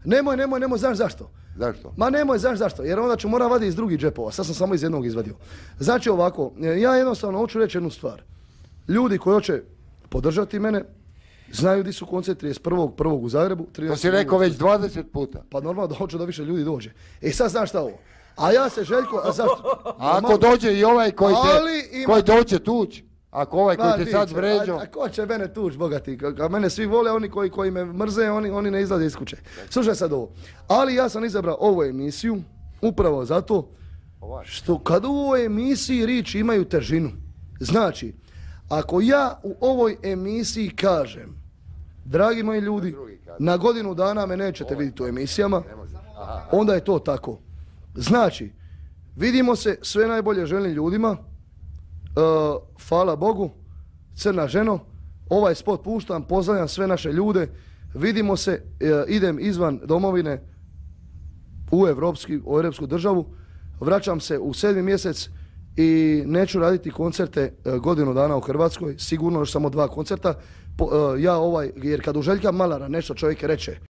Nemoj, znaš zašto? Zašto? Ma nemoj, znaš zašto? Jer onda ću morat vaditi iz drugih džepova. Sad sam samo iz jednog izvadio. Znači ovako, ja jednostavno hoću reći jednu stvar. Ljudi koji hoće podržati mene, znaju di su koncert 31.1. u Zagrebu. To si rekao već 20 puta. Pa normalno da hoću da više ljudi dođe. Sad znaš šta ovo? A ja se Željko, a zašto? A ako dođe i ovaj koji doće tuć, ako ovaj koji te sad vređao. A ko će mene tuć, bogati? A mene svi vole, oni koji me mrze, oni ne izlaze iz kuće. Slušaj sad ovo. Ali ja sam izabrao ovu emisiju upravo zato što kad u ovoj emisiji riječi imaju težinu. Znači, ako ja u ovoj emisiji kažem, dragi moji ljudi, na godinu dana me nećete vidjeti u emisijama, onda je to tako. Znači, vidimo se, sve najbolje želim ljudima, hvala Bogu, crna ženo, ovaj spot puštam, pozdravljam sve naše ljude, vidimo se, idem izvan domovine u europsku državu, vraćam se u 7. mjesec i neću raditi koncerte godinu dana u Hrvatskoj, sigurno još samo 2 koncerta, jer kad u Željka Malara nešto čovjek reče,